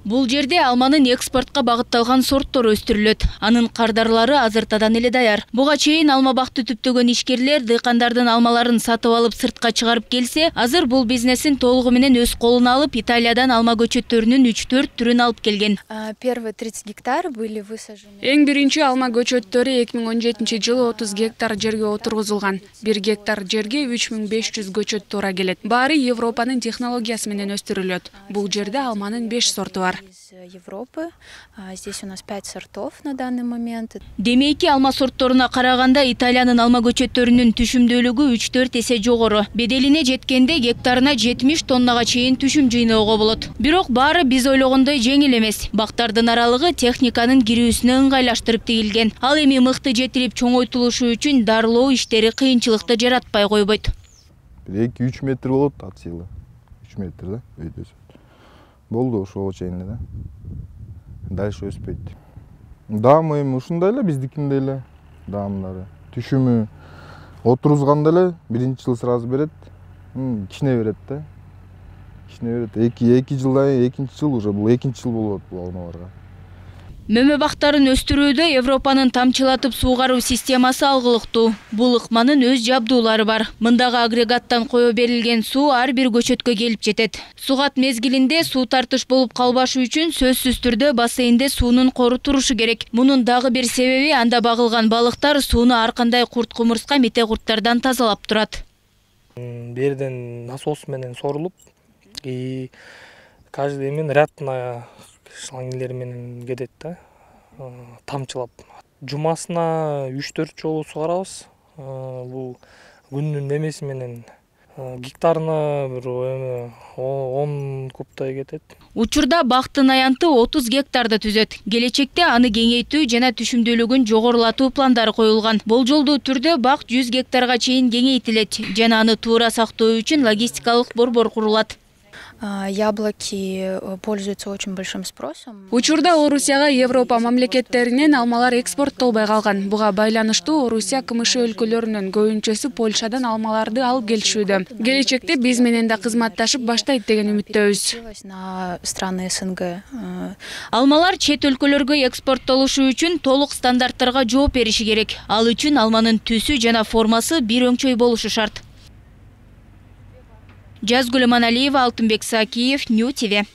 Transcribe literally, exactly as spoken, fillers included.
Бул жерде алманын экспортко багытталган сорттор өстүрүлөт. Анын кардарлары азыртадан эле даяр. Буга чейин алма бакты түптөгөн ишкерлер дыйкандардын алмаларын сатып алып сыртка чыгарып келсе, азыр бул бизнесин толугу менен өз колуна алып, Италиядан алма көчөттөрүнүн үч төрт түрүн алып келген. Первые тридцать гектар были высажены. Эң биринчи алма көчөттөрү эки миң он жетинчи жылы отуз гектар жерге отургузулган. бир гектар жерге үч миң беш жүз көчөт туура келет. Баары Европанын технологиясы менен өстүрүлөт. Бул жерде алманын беш сорту бар. Из Европы. Здесь у нас пять сортов на данный момент. Демейки алма сортторуна караганда Италиянын алма көчөттөрүнүн түшүмдүүлүгү үч төрт эсе жогору. Беделине жеткенде гектарына жетимиш тоннага чейин түшүм жыйноого болот. Бирок баары биз ойлогондой жеңил эмес. Бактардын аралыгы техниканын кирүүсүнө ыңгайлаштырып тигилген. Ал эми мыкты жетилип чоңойтулушу үчүн дарылоо иштери кыйынчылыкты жаратпай койбойт. эки үч метр болот от силы. үч метр да өйдөсү. Болду ошого чейин эле. Дальше өспөйт. Даамы эми ушундай эле биздикиндей эле. Даамдары. Түшүмү отурузганда эле биринчи жыл сразу берет. Кичине берет да. Кичине берет. эки эки жылдан кийин экинчи жыл уже бул экинчи жыл болот бул алмаларга. Мөмө бактарын өстүрүүдө Европанын тамчылатып суугаруу системасы алгылыктуу. Бул ыкманын өз жабдуулары бар. Мындагы агрегаттан кое берилген суу ар бир көчөткө келип жетет. Сугат мезгилинде суу тартыш болуп калбашы үчүн сөзсүз түрдө бассейнде суунун кору турушу керек. Мунун дагы бир себеби анда багылган балыктар сууну ар кандай курт-кумурска, мете курттардан тазалап турат. Берден насос менен сорулуп, и каждый эмен рядна шлангилер менен кетет да, тамчылап. Жумасына үч төрт жолу сугарабыз. Бул күндүн эмеси менен гектарына бир он кубтай кетет. Учурда бактын аянты отуз гектарды түзөт. Келечекте аны кеңейтүү жана түшүмдүүлүгүн жогорулатуу пландары коюлган. Болжолдуу түрдө бак жүз гектарга чейин кеңейтилет жана аны туура сактоо үчүн логистикалык борбор курулат. Яблоки пользуются очень большим спросом. Учурда Орусияга Европа мамлекеттеринен алмалар экспорттолбой калган. Буга байланыштуу Орусия КМШ өлкөлөрүнүн көбүнчөсү Польшадан алмаларды алып келишүүдө. Келечекте биз менен да кызматташып баштайт деген үмүттөбүз. На страны СНГ. Алмалар чет өлкөлөргө экспорттолушу үчүн толук стандарттарга жооп бериши керек. Ал үчүн алманын түсү жана формасы бир өңчөй болушу шарт. Жазгүл Маналиева, Алтынбек Сакиев, Нью ТВ.